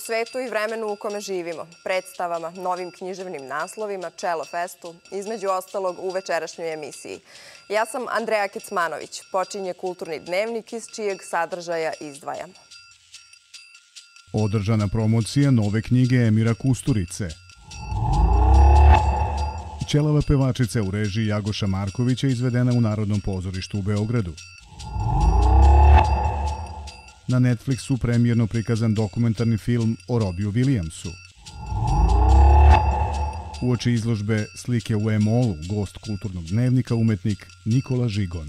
svetu i vremenu u kome živimo, predstavama, novim književnim naslovima, Čelo festu, između ostalog u večerašnjoj emisiji. Ja sam Andreja Kecmanović, počinje Kulturni dnevnik iz čijeg sadržaja izdvajamo. Održana promocija nove knjige Emira Kusturice. Ćelava pevačica u režiji Jagoša Markovića izvedena u Narodnom pozorištu u Beogradu. Na Netflixu premijerno prikazan dokumentarni film o Robiju Williamsu. Uoči izložbe Slike u E-molu, gost Kulturnog dnevnika, umetnik Nikola Žigon.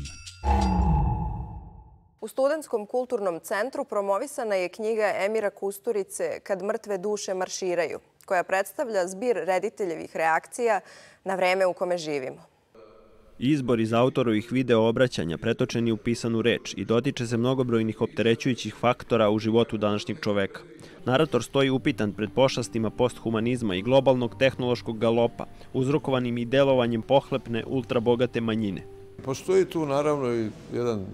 U Studentskom kulturnom centru promovisana je knjiga Emira Kusturice Kad mrtve duše marširaju, koja predstavlja zbir rediteljevih reakcija na vreme u kome živimo. Izbor iz autorovih video obraćanja pretočen je u pisanu reč i dotiče se mnogobrojnih opterećujućih faktora u životu današnjeg čoveka. Narator stoji upitan pred pošastima posthumanizma i globalnog tehnološkog galopa, uzrokovanim i delovanjem pohlepne, ultrabogate manjine. Postoji tu naravno i jedan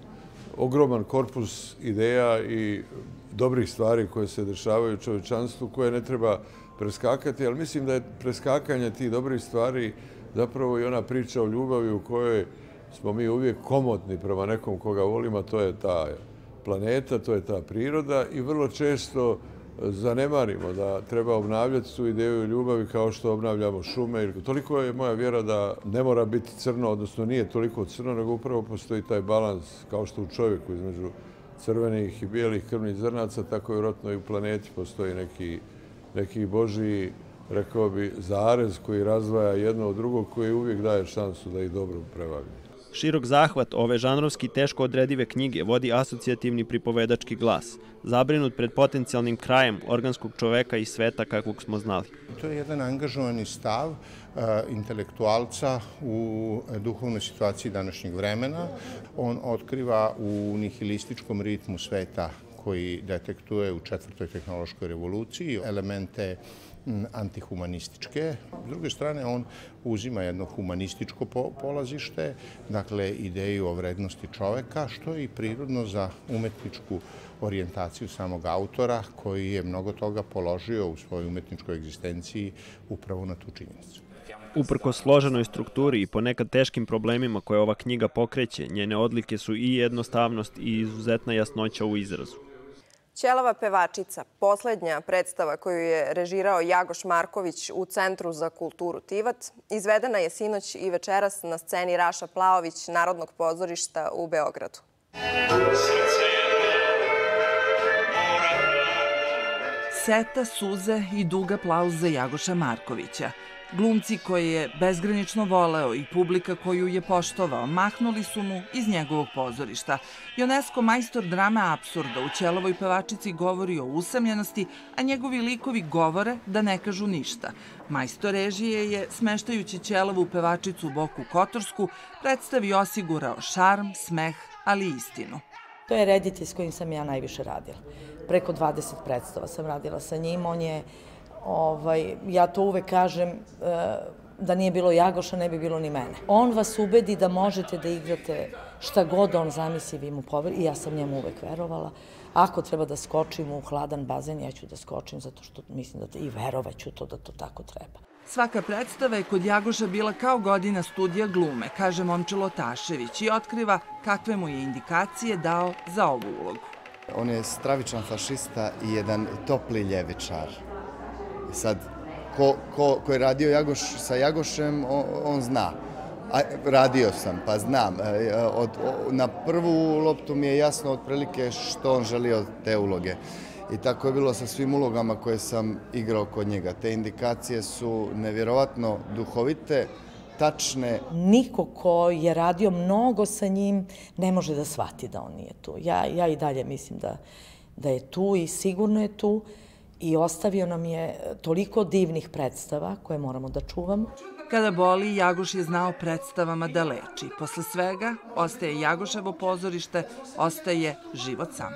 ogroman korpus ideja i dobrih stvari koje se dešavaju u čovječanstvu, koje ne treba preskakati, ali mislim da je preskakanje tih dobrih stvari zapravo i ona priča o ljubavi u kojoj smo mi uvijek komotni prema nekom koga volimo, to je ta planeta, to je ta priroda i vrlo često zanemarimo da treba obnavljati tu ideju ljubavi kao što obnavljamo šume. Toliko je moja vjera da ne mora biti crno, odnosno nije toliko crno, nego upravo postoji taj balans kao što u čovjeku između crvenih i bijelih krvnih zrnaca, tako i vjerojatno i u planeti postoji neki božji, rekao bi, zarez koji razdvaja jedno od drugog, koji uvijek daje šansu da ih dobro prevagnu. Širok zahvat ove žanrovski teško odredive knjige vodi asocijativni pripovedački glas, zabrinut pred potencijalnim krajem organskog čoveka i sveta kakvog smo znali. To je jedan angažovani stav intelektualca u duhovnoj situaciji današnjeg vremena. On otkriva u nihilističkom ritmu sveta koji detektuje u 4. tehnološkoj revoluciji elemente antihumanističke. S druge strane, on uzima jedno humanističko polazište, dakle ideju o vrednosti čoveka, što je i prirodno za umetničku orijentaciju samog autora, koji je mnogo toga položio u svojoj umetničkoj egzistenciji upravo na tu činjenicu. Uprkos složenoj strukturi i ponekad teškim problemima koje ova knjiga pokreće, njene odlike su i jednostavnost i izuzetna jasnoća u izrazu. Ćelava pevačica, poslednja predstava koju je režirao Jagoš Marković u Centru za kulturu Tivat, izvedena je sinoć i večeras na sceni Raša Plaović Narodnog pozorišta u Beogradu. Seta, suze i dug aplauz za Jagoša Markovića. Glumci koje je bezgranično voleo i publika koju je poštovao mahnuli su mu iz njegovog pozorišta. Ionesco, majstor drame apsurda, u Ćelavoj pevačici govori o usamljenosti, a njegovi likovi govore da ne kažu ništa. Majstor režije je, smeštajući Ćelavu pevačicu u Boku Kotorsku, predstavi osigurao šarm, smeh, ali i istinu. To je reditelj s kojim sam ja najviše radila. Preko 20 predstava sam radila sa njim. On je, ja to uvek kažem, da nije bilo Jagoša, ne bi bilo ni mene. On vas ubedi da možete da igrate šta god on zamisli, vi mu poverujete. I ja sam njemu uvek verovala. Ako treba da skočim u hladan bazen, ja ću da skočim, zato što mislim da i verovaću to da to tako treba. Svaka predstava je kod Jagoša bila kao godina studija glume, kaže Momčilo Tašević, i otkriva kakve mu je indikacije dao za ovu ulogu. On je stravičan fašista i jedan topli ljevičar. Sad, ko je radio sa Jagošem, on zna. Radio sam, pa znam. Na prvu loptu mi je jasno otprilike što on želi od te uloge. I tako je bilo sa svim ulogama koje sam igrao kod njega. Te indikacije su nevjerovatno duhovite, tačne. Niko ko je radio mnogo sa njim ne može da shvati da on nije tu. Ja i dalje mislim da je tu i sigurno je tu i ostavio nam je toliko divnih predstava koje moramo da čuvamo. Kada boli, Jagoš je znao predstavama da leči. Posle svega ostaje Jagoševo pozorište, ostaje život sam.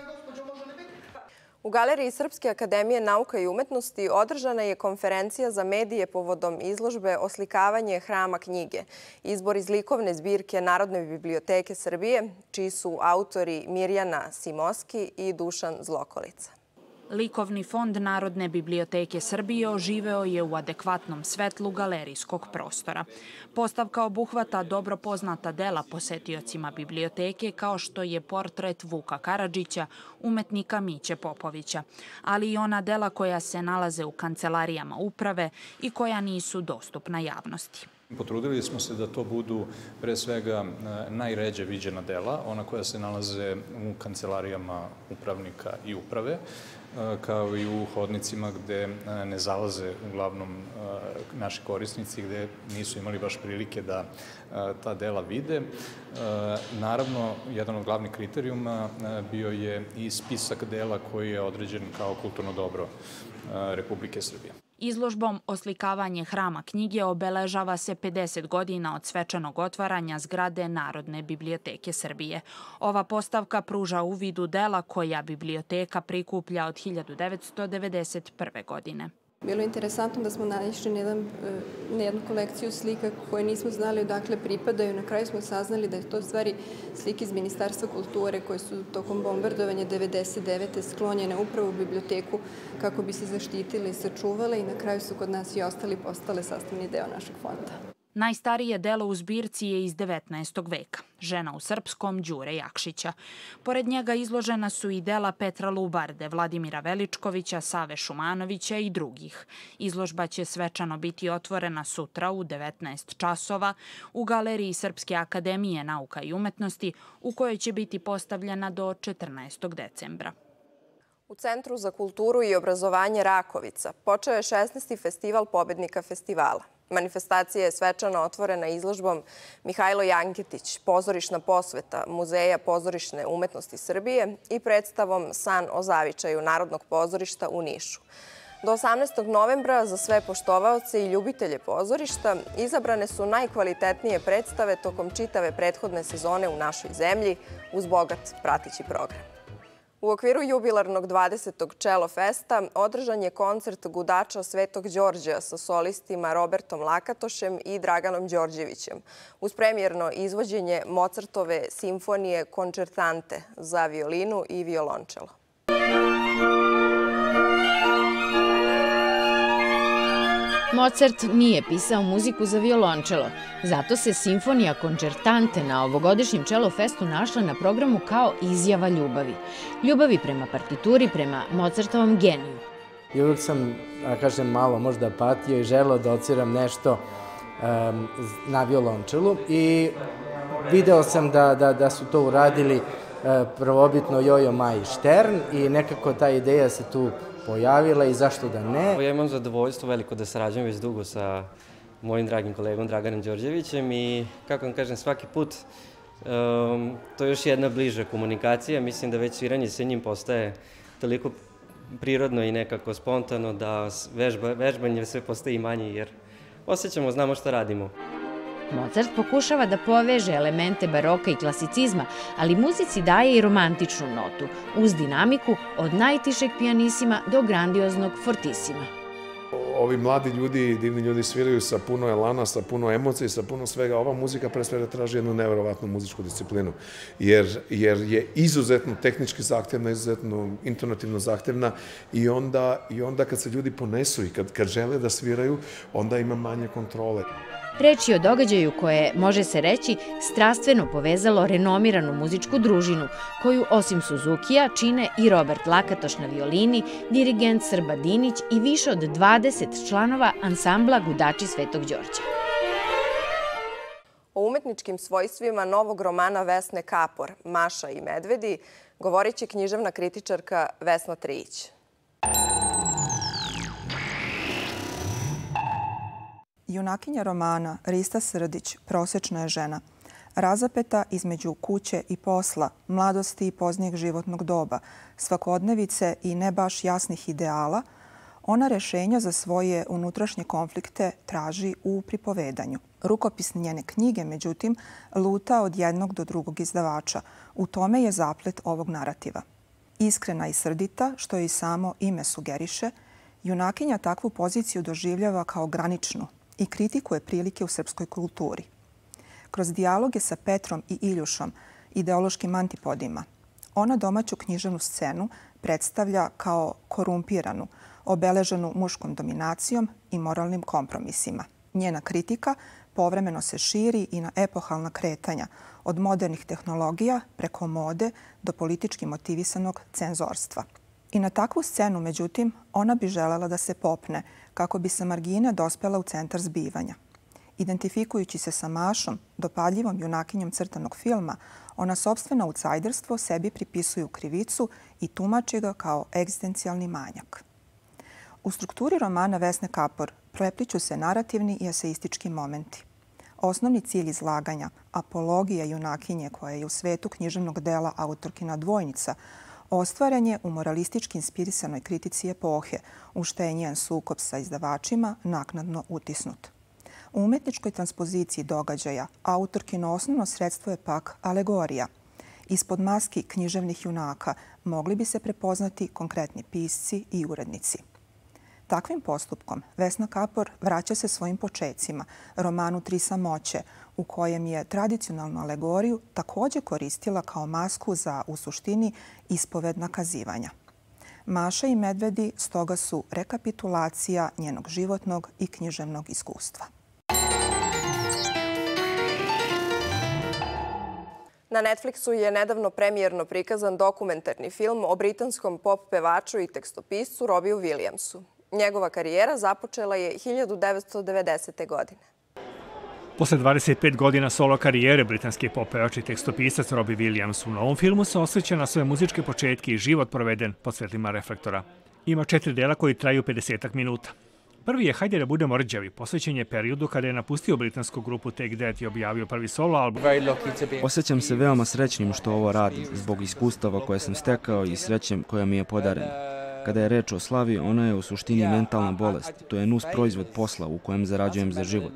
U Galeriji Srpske akademije nauka i umetnosti održana je konferencija za medije povodom izložbe Oslikavanje hrama knjige, izbor iz likovne zbirke Narodne biblioteke Srbije, čiji su autori Mirjana Simoski i Dušan Zlokolica. Likovni fond Narodne biblioteke Srbije oživeo je u adekvatnom svetlu galerijskog prostora. Postavka obuhvata dobro poznata dela posetiocima biblioteke kao što je portret Vuka Karadžića, umetnika Miće Popovića, ali i ona dela koja se nalaze u kancelarijama uprave i koja nisu dostupna javnosti. Potrudili smo se da to budu pre svega najređe viđena dela, ona koja se nalaze u kancelarijama upravnika i uprave, kao i u hodnicima gde ne zalaze uglavnom naši korisnici, gde nisu imali baš prilike da ta dela vide. Naravno, jedan od glavnih kriterijuma bio je i spisak dela koji je određen kao kulturno dobro Republike Srbije. Izložbom Oslikavanje hrama knjige obeležava se 50 godina od svečanog otvaranja zgrade Narodne biblioteke Srbije. Ova postavka pruža uvid u dela koja biblioteka prikuplja od 1991. godine. Bilo je interesantno da smo naišli na jednu kolekciju slika koje nismo znali odakle pripadaju. Na kraju smo saznali da je to stvari slike iz Ministarstva kulture koje su tokom bombardovanja 1999. sklonjene upravo u biblioteku kako bi se zaštitile i sačuvale i na kraju su kod nas i postale sastavni deo našeg fonda. Najstarije delo u zbirci je iz 19. veka, Žena u srpskom Đure Jakšića. Pored njega izložena su i dela Petra Lubarde, Vladimira Veličkovića, Save Šumanovića i drugih. Izložba će svečano biti otvorena sutra u 19 časova u Galeriji Srpske akademije nauka i umetnosti, u kojoj će biti postavljena do 14. decembra. U Centru za kulturu i obrazovanje Rakovica počeo je 16. festival pobednika festivala. Manifestacija je svečano otvorena izložbom Mihajlo Janketić, pozorišna posveta Muzeja pozorišne umetnosti Srbije i predstavom San o zavičaju Narodnog pozorišta u Nišu. Do 18. novembra za sve poštovaoce i ljubitelje pozorišta izabrane su najkvalitetnije predstave tokom čitave prethodne sezone u našoj zemlji uz bogat prateći program. U okviru jubilarnog 20. Čelo festa održan je koncert gudača Svetog Đorđa sa solistima Robertom Lakatošem i Draganom Đorđevićem uz premijerno izvođenje Mozartove simfonije Končertante za violinu i violončelo. Mozart nije pisao muziku za violončelo, zato se simfonija Končertante na ovogodišnjem Čelo festu našla na programu kao izjava ljubavi. Ljubavi prema partituri, prema Mozartovom geniju. I uvijek sam, kažem, malo možda patio i želeo da odsviram nešto na violončelu i video sam da su to uradili prvobitno Jojo Maj Štern i nekako ta ideja se tu pojavila i zašto da ne. Ja imam zadovoljstvo veliko da sarađujem već dugo sa mojim dragim kolegom Draganom Đorđevićem i, kako vam kažem, svaki put to je još jedna bliža komunikacija. Mislim da već sviranje sa njim postaje toliko prirodno i nekako spontano da vežbanje sve postaje manje jer osjećamo, znamo šta radimo. Mozart pokušava da poveže elemente baroka i klasicizma, ali muzici daje i romantičnu notu, uz dinamiku od najtišeg pijanisima do grandioznog fortisima. Ovi mladi ljudi, divni ljudi sviraju sa puno elana, sa puno emocija, sa puno svega. Ova muzika pre svega traži jednu neverovatnu muzičku disciplinu, jer je izuzetno tehnički zahtevna, izuzetno intonativno zahtevna i onda kad se ljudi ponesu i kad žele da sviraju, onda ima manje kontrole. Reč je o događaju koje, može se reći, strastveno povezalo renomiranu muzičku družinu, koju osim Suzukija čine i Robert Lakatoš na violini, dirigent Srba Dinić i više od 20 članova ansambla Gudači Svetog Đorđa. O umetničkim svojstvima novog romana Vesne Kapor, Maša i medvedi, govorit će književna kritičarka Vesna Trijić. Junakinja romana Rista Srdić prosečna je žena. Razapeta između kuće i posla, mladosti i poznijeg životnog doba, svakodnevice i ne baš jasnih ideala, ona rešenja za svoje unutrašnje konflikte traži u pripovedanju. Rukopis njene knjige, međutim, luta od jednog do drugog izdavača. U tome je zaplet ovog narativa. Iskrena i srdita, što i samo ime sugeriše, junakinja takvu poziciju doživljava kao graničnu i kritikuje prilike u srpskoj kulturi. Kroz dijaloge sa Petrom i Iljušom, ideološkim antipodima, ona domaću književnu scenu predstavlja kao korumpiranu, obeleženu muškom dominacijom i moralnim kompromisima. Njena kritika povremeno se širi i na epohalna kretanja, od modernih tehnologija preko mode do politički motivisanog cenzorstva. I na takvu scenu, međutim, ona bi želela da se popne kako bi sa margine dospela u centar zbivanja. Identifikujući se sa Mašom, dopadljivom junakinjom crtanog filma, ona sopstveno outsiderstvo sebi pripisuje u krivicu i tumači ga kao egzistencijalni manjak. U strukturi romana Vesne Kapor prepliću se narativni i eseistički momenti. Osnovni cilj izlaganja, apologija junakinje koja je u svetu književnog dela autorkina dvojnica, ostvaren je u moralistički inspirisanoj kritici epohe, u što je njen sukob sa izdavačima naknadno utisnut. U umetničkoj transpoziciji događaja autorkino osnovno sredstvo je pak alegorija. Ispod maski književnih junaka mogli bi se prepoznati konkretni pisci i urednici. Takvim postupkom Vesna Kapor vraća se svojim počecima, romanu Tri samoće, u kojem je tradicionalnu alegoriju također koristila kao masku za, u suštini, ispoved nakazivanja. Maša i medvedi stoga su rekapitulacija njenog životnog i književnog iskustva. Na Netflixu je nedavno premijerno prikazan dokumentarni film o britanskom pop pevaču i tekstopiscu Robbiju Williamsu. Njegova karijera započela je 1990. godine. Posle 25 godina solo karijere britanski pop pevač i tekstopisac Robbie Williams u novom filmu se osvrće na svoje muzičke početke i život proveden pod svetlima reflektora. Ima 4 dela koji traju 50 minuta. Prvi je Hajde da budemo rđavi, posvećen je periodu kada je napustio britansku grupu Take That i objavio prvi solo album. Osjećam se veoma srećnim što ovo radim, zbog iskustava koje sam stekao i srećem koja mi je podarena. Kada je reč o slavi, ona je u suštini mentalna bolest. To je nus proizvod posla u kojem zarađujem za život.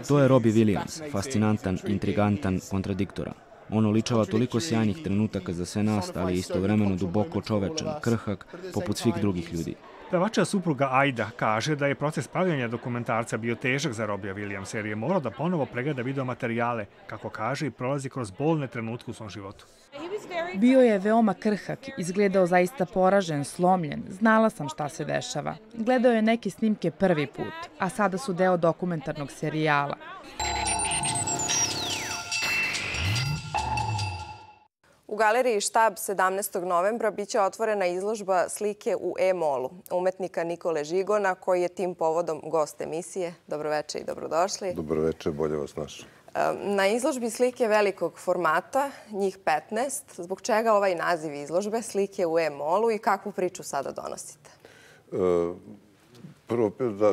To je Robbie Williams, fascinantan, intrigantan, kontradiktoran. On oličava toliko sjajnih trenutaka za sve nas, ali je istovremeno duboko čovečan, krhak, poput svih drugih ljudi. Pevača supruga Aida kaže da je proces pravljanja dokumentarca bio težak za Robbija Williamsa jer je morao da ponovo pregleda videomaterijale, kako kaže, i prolazi kroz bolne trenutke u svom životu. Bio je veoma krhak, izgledao zaista poražen, slomljen. Znala sam šta se dešava. Gledao je neke snimke prvi put, a sada su deo dokumentarnog serijala. U galeriji Štab 17. novembra biće otvorena izložba slike u E-molu umetnika Nikole Žigona, koji je tim povodom gost emisije. Dobroveče i dobrodošli. Dobroveče, bolje vas našao. Na izložbi slike velikog formata, njih 15, zbog čega ovaj naziv izložbe, slike u E-molu i kakvu priču sada donosite? Prvo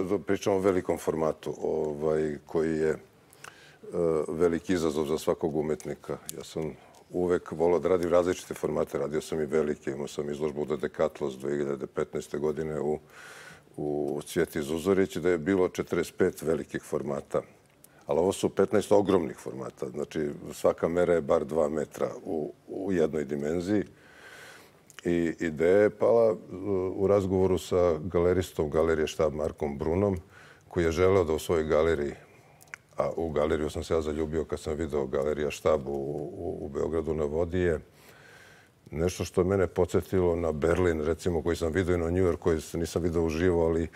da pričamo o velikom formatu koji je veliki izazov za svakog umetnika. Ja sam uvek volao da radim različite formate. Radio sam i velike. Imao sam izložbu The Decathlon 2015. godine u Cvjeti Zuzorić, da je bilo 45 velikih formata. Ali ovo su 15 ogromnih formata. Znači, svaka mera je bar 2 metra u jednoj dimenziji. I ideja je pala u razgovoru sa galeristom Galerije Štab Markom Brunom, koji je želeo da u svojoj galeriji, a u galeriju sam se ja zaljubio kad sam video Galerija Štab u Beogradu na vodi, je nešto što je mene podsjetilo na Berlin, recimo, koji sam vidio i na New York, koji nisam vidio uživo, ali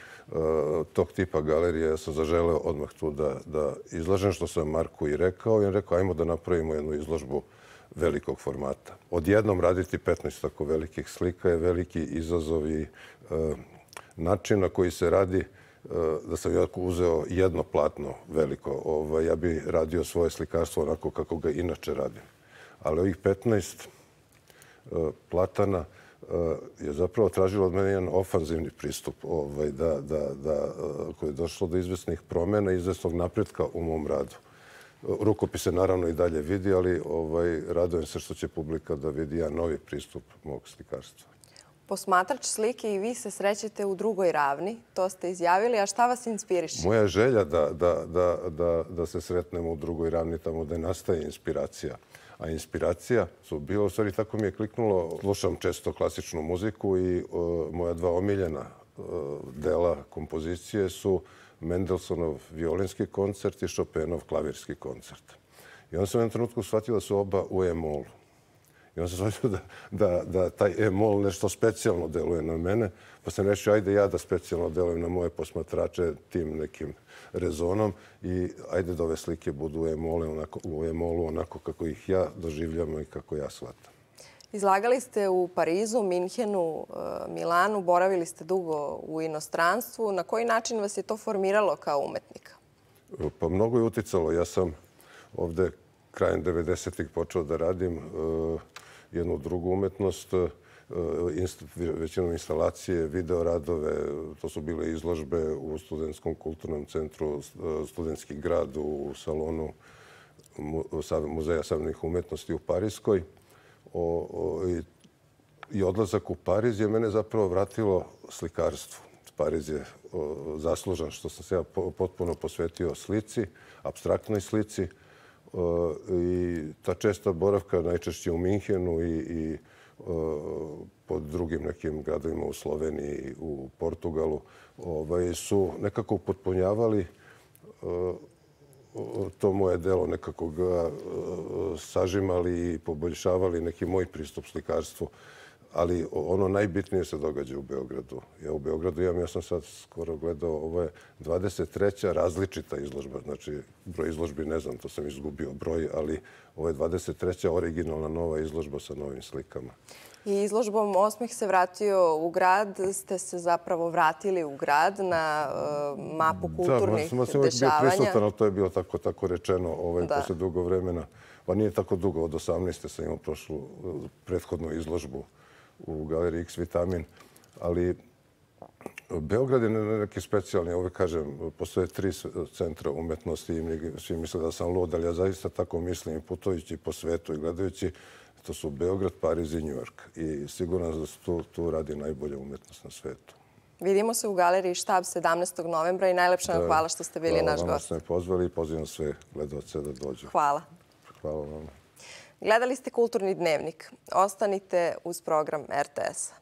tog tipa galerije ja sam zaželeo odmah tu da izlažem, što sam Marku i rekao. I on rekao, ajmo da napravimo jednu izložbu velikog formata. Odjednom raditi 15 tako velikih slika je veliki izazov i način na koji se radi. Da sam jako uzeo jedno platno veliko. Ja bi radio svoje slikarstvo onako kako ga inače radim. Ali ovih 15 platana je zapravo tražilo od mene jedan ofanzivni pristup koji je došlo do izvesnih promjena i izvesnog napretka u mom radu. Rukopis se naravno i dalje vidi, ali radujem se što će publika da vidi jedan novi pristup mog slikarstva. Posmatrač slike i vi se srećete u drugoj ravni, to ste izjavili, a šta vas inspiriše? Moja želja da se sretnemo u drugoj ravni tamo da nastaje inspiracija. A inspiracija su bilo, u stvari tako mi je kliknulo, slušam često klasičnu muziku i moja 2 omiljena dela kompozicije su Mendelssohnov violinski koncert i Chopinov klavirski koncert. I onda sam u jednom trenutku shvatio da su oba u E-molu. I on se shvatio da taj e-mol nešto specijalno deluje na mene, pa sam rešio ajde ja da specijalno delujem na moje posmatrače tim nekim rezonom i ajde da ove slike budu u e-molu onako kako ih ja doživljam i kako ja shvatam. Izlagali ste u Parizu, Minhenu, Milanu, boravili ste dugo u inostranstvu. Na koji način vas je to formiralo kao umetnika? Pa mnogo je uticalo. Ja sam ovde krajem 90-ih počeo da radim jednu drugu umetnost, većinom instalacije, videoradove. To su bile izložbe u Studentskom kulturnom centru, Studentski grad u salonu Muzeja savremenih umetnosti u Pariskoj. I odlazak u Pariz je mene zapravo vratilo slikarstvu. Pariz je zaslužan što sam se ja potpuno posvetio slici, apstraktnoj slici. I ta česta boravka, najčešće u Minhenu i pod drugim nekim gradovima u Sloveniji, u Portugalu, su nekako upotpunjavali to moje delo, nekako ga sažimali i poboljšavali neki moj pristup slikarstvu. Ali ono najbitnije se događa u Beogradu. Ja u Beogradu imam, ja sam sad skoro gledao, ovo je 23. različita izložba. Znači, broj izložbi ne znam, to sam izgubio broj, ali ovo je 23. originalna nova izložba sa novim slikama. I izložbom Osmeh se vratio u grad, ste se zapravo vratili u grad na mapu kulturnih dešavanja. Da, sam uvijek bio prisutan, ali to je bilo tako rečeno posle dugo vremena. Pa nije tako dugo, od 18. sam imao prošlu prethodnu izložbu u galeriji X Vitamin, ali Beograd je neki specijalni, uvek kažem, postoje 3 centra umetnosti i svi misle da sam lud, ali ja zaista tako mislim, putujući po svetu i gledajući, to su Beograd, Pariz i New York. I sigurno da se tu radi najbolja umetnost na svetu. Vidimo se u galeriji Štab 17. novembra i najlepša vam hvala što ste bili naš gost. Hvala vam što ste me pozvali i pozivam sve gledalce da dođu. Hvala. Hvala vam. Gledali ste Kulturni dnevnik. Ostanite uz program RTS-a.